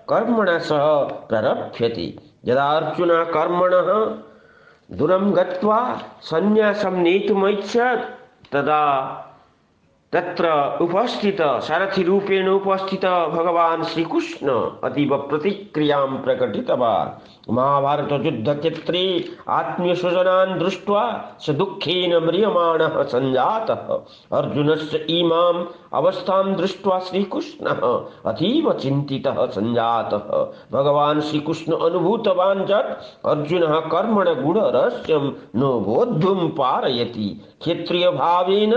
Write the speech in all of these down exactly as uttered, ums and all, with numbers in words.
कर्मणा सह प्रारभ्यते। यदा अर्जुन कर्मणः दूरं गत्वा सन्न्यासं नेतुमैच्छत् तदा तत्र उपस्थित सारथि रूपेण उपस्थित भगवान् श्रीकृष्ण अतीव प्रतिक्रियां प्रकटितवान्। महाभारत युद्धक्षेत्रे आत्मीयस्वजनान् दृष्ट्वा स दुःखेन म्रियमाणः सञ्जातः। अर्जुनस्य इमाम् अवस्थां दृष्ट्वा श्रीकृष्णः अतीव चिन्तितः सञ्जातः। भगवान् श्रीकृष्ण अनुभूतवान् यत् अर्जुनः कर्मण गूढरहस्यं न बोद्धुं पारयति। क्षत्रियभावेन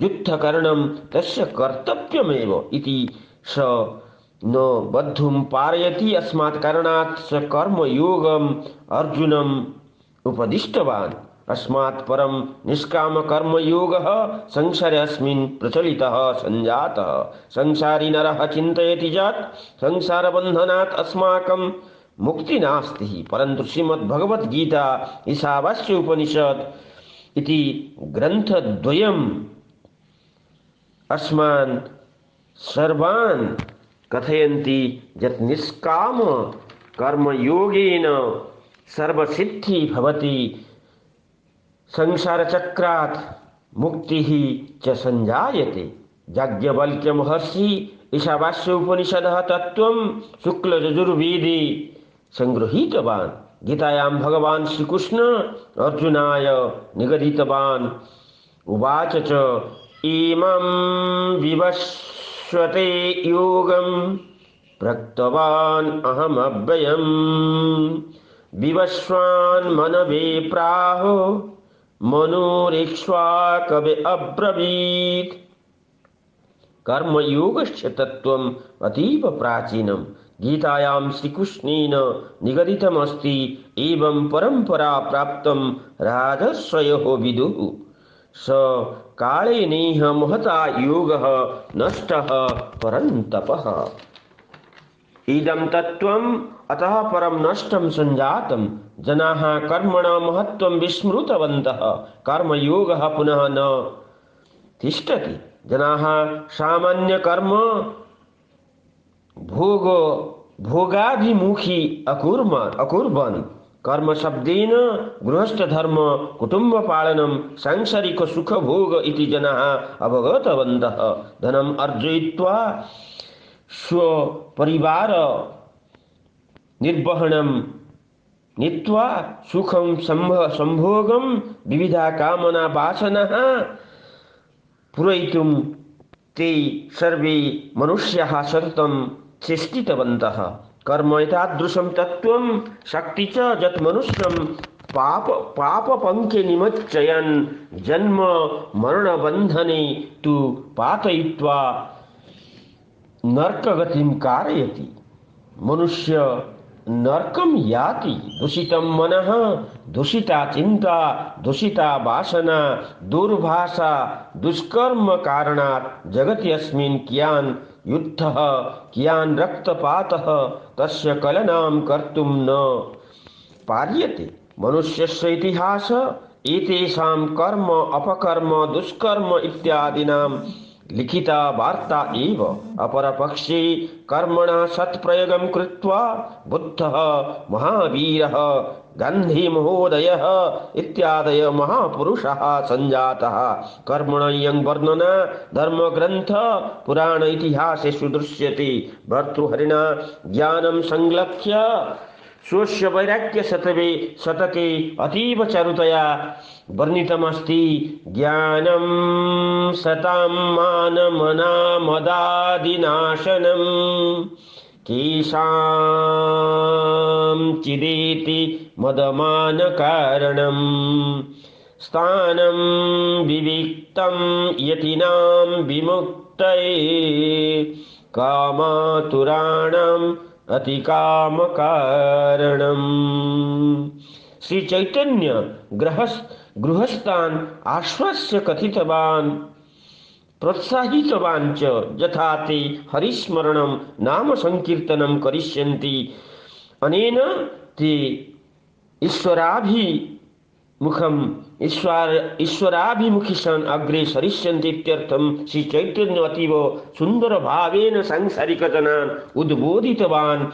युद्धकरणं तस्य कर्तव्यमेव इति स न बद्धुं पारयति। अस्मात् कारणात् स कर्मयोगम् अर्जुनम् उपदिष्टवान्। अस्मात् परं निष्कामकर्मयोगः संसारे अस्मिन् प्रचलितः सञ्जातः। संसारी नरः चिन्तयति यत् संसारबन्धनात् अस्माकं मुक्ति नास्ति, परन्तु श्रीमद्भगवद्गीता ईशावास्य उपनिषत् इति ग्रन्थद्वयम् अस्मान् सर्वान् कथयन्ति यत् निष्काम कर्मयोगेन सर्वसिद्धि भवति, संसारचक्रात् मुक्तिः च सञ्जायते। याज्ञवल्क्य महर्षि ईशावास्य उपनिषदः तत्त्वं शुक्लयजुर्वेदे संगृहीतवान्। गीतायां भगवान् श्रीकृष्ण अर्जुनाय निगदितवान्। उवाच च इमं विवस्वते योगं प्रक्तवान् अहमव्ययम् विवस्वान् मनवे प्राहो मनोरेक्ष्वाकवे अब्रवीत्। कर्मयोगस्य तत्त्वम् अतीव प्राचीनं गीतायां श्रीकृष्णेन निगदितमस्ति। एवं परम्परा प्राप्तं राजर्षयः विदुः। स कालेनेह महता योगः नष्टः परन्तपः। इदं तत्त्वम् अतः परं नष्टं सञ्जातं। जनाः कर्मणः महत्त्वं विस्मृतवन्तः। कर्मयोगः पुनः न तिष्ठति। जनाः सामान्यकर्म भोग भोगाभिमुखी अकुर्वन् अकुर्वन् कर्म शब्देन गृहस्थधर्म कुटुम्बपालनं सांसारिक सुखभोग इति जनाः अवगतवन्तः। धनम् अर्जयित्वा स्वपरिवार निर्वहणं नीत्वा सुखं संभोगं विविधा कामना वासनाः पूरयितुं ते सर्वे मनुष्याः सततं चेष्टितवन्तः। कर्म एतादृशं तत्त्वं शक्ति च यत् मनुष्यं पाप पापपङ्के निमज्जयन् जन्म मरणबन्धने तु पातयित्वा नरकगतिं कारयति। मनुष्य नरकं याति। दूषितं मनः, दूषिता चिन्ता, दूषिता वासना, दुर्भाषा, दुष्कर्म कारणात् जगति अस्मिन् कियान् युद्धः कियान् रक्तपातः तस्य कलनां कर्तुं न पार्यते। मनुष्यस्य इतिहासः एतेषां कर्म अपकर्म दुष्कर्म इत्यादीनां लिखिता वार्ता एव। अपरपक्षे कर्मणः सत्प्रयोगं कृत्वा बुद्धः, महावीरः, गान्धीमहोदयः इत्यादयः महापुरुषाः सञ्जाताः। कर्मणः वर्णना धर्मग्रन्थ पुराण इतिहासेषु दृश्यते। भर्तृहरिणा ज्ञानं संलक्ष्य स्वस्य वैराग्य शतके शतके अतीव चारुतया वर्णितमस्ति। ज्ञानं सतां मानमनामदादिनाशनं केषां चिदेति मदमानकारणं स्थानं विविक्तं यतीनां विमुक्तये कामातुराणाम् अतिकाम कारणम्। श्री चैतन्य गृहस्थ गृहस्थान् आश्वास्य कथितवान् प्रोत्साहितवान् च यथा ते हरिस्मरणं नाम संकीर्तनं करिष्यन्ति अनेन ते ईश्वराभि मुखम ईश्वर ईश्वराभिमुखी सन अग्रे सरिष्यन्ति इत्यर्थं श्री चैतन्य अतीव सुंदर भावेन सांसारिक जनान् उद्बोधितवान्।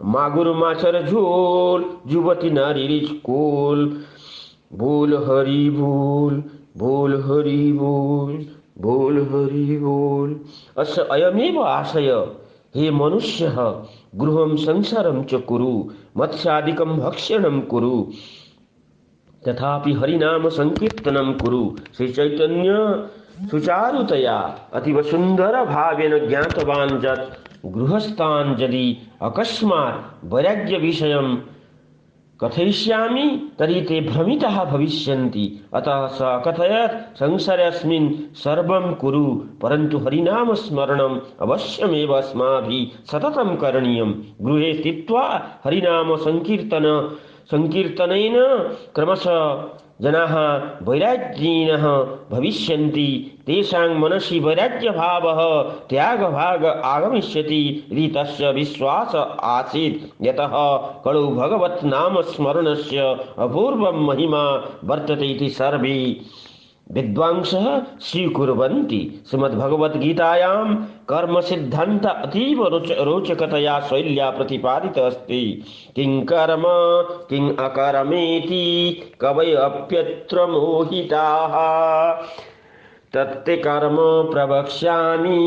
मागुर माछर झोल जुवती नारी रिच कोल बोल हरि बोल बोल हरि बोल बोल हरि बोल। अस्य अयमेव आशय। हे मनुष्यः गृहं संसारं च कुरु मत्स्यादिकं भक्षणं कुरु तथापि हरिनाम संकीर्तनं कुरु। श्री चैतन्य सुचारुतया अतीव सुंदर भावेन ज्ञातवान् यत् गृहस्थान् यदि अकस्मात् वैराग्य विषयं कथयिष्यामि तर्हि ते भ्रमिताः भविष्यन्ति। अतः स अकथयत् संसारेऽस्मिन् सर्वं कुरु परन्तु हरिनाम स्मरणम् अवश्यमेव अस्माभिः सततं करणीयम्। गृहे स्थित्वा हरिनाम संकीर्तन संकीर्तनेन क्रमशः जनाः वैराग्यिनः भविष्यन्ति। तेषां मनसि वैराग्यभावः त्यागभाग आगमिष्यति इति तस्य विश्वास आसीत्। यतः कलौ भगवत् नाम स्मरणस्य अपूर्वं महिमा वर्तते इति सर्वे विद्वांसः स्वीकुर्वन्ति। श्रीमद्भगवद्गीतायां कर्म सिद्धान्त अतीव रोच रोचकतया शैल्या प्रतिपादितः अस्ति। किं कर्म किं अकर्मेति कवयोऽप्यत्र मोहिताः तत्ते कर्म प्रवक्ष्यामि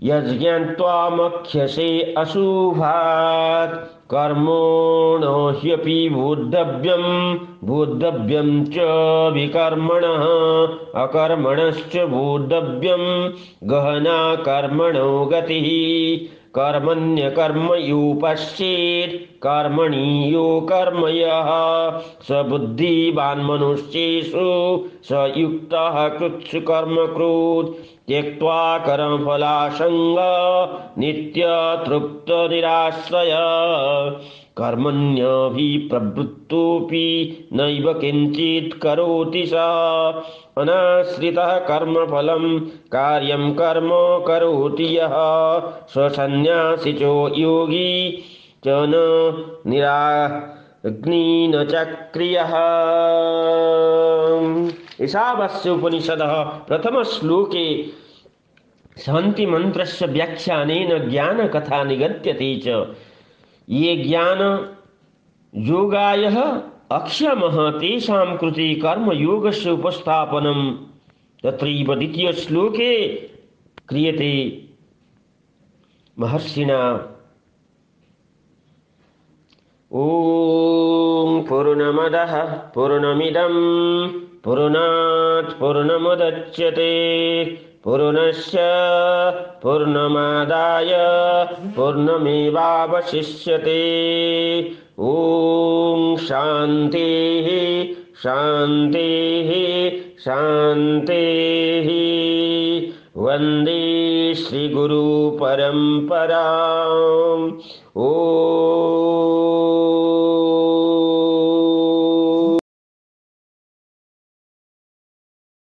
यज्ञात्वा मक्ष्यसे अशुभात्। कर्मणो ह्यपि बोद्धव्यं बोद्धव्यं च विकर्मणः अकर्मणश्च बोद्धव्यं गहना कर्मणो गतिः। कर्मण्यकर्म यो पश्येत् कर्मणि यो कर्म यः स बुद्धिवान् मनुष्येषु स युक्तः कृत्सु कर्म कृत् त्यक्त्वा कर्मफलासङ्गं नित्यतृप्त निराश्रय। कर्मण्यभिप्रवृत्तोऽपि नैव किञ्चित् करोति सः अनाश्रितः कर्मफलं कार्यं कर्म करोति यः स सन्न्यासी योगी च न निराग्नि न चक्रियः। ईशावास्य उपनिषदः प्रथम श्लोके शान्ति मंत्रस्य व्याख्यानेन ज्ञान कथा निगद्यते च। ये ज्ञान योगायः अक्षमः तेषां कृते कर्मयोगस्य उपस्थापनं तत्रैव द्वितीय श्लोके क्रियते महर्षिणा। ॐ पूर्णमदः पूर्णमिदं पूर्णात् पूर्णमुदच्यते पूर्णस्य पूर्णमादाय पूर्णमेवावशिष्यते। ॐ शान्तिः शान्तिः शान्तिः। वन्दे श्रीगुरु परम्पराम्। ॐ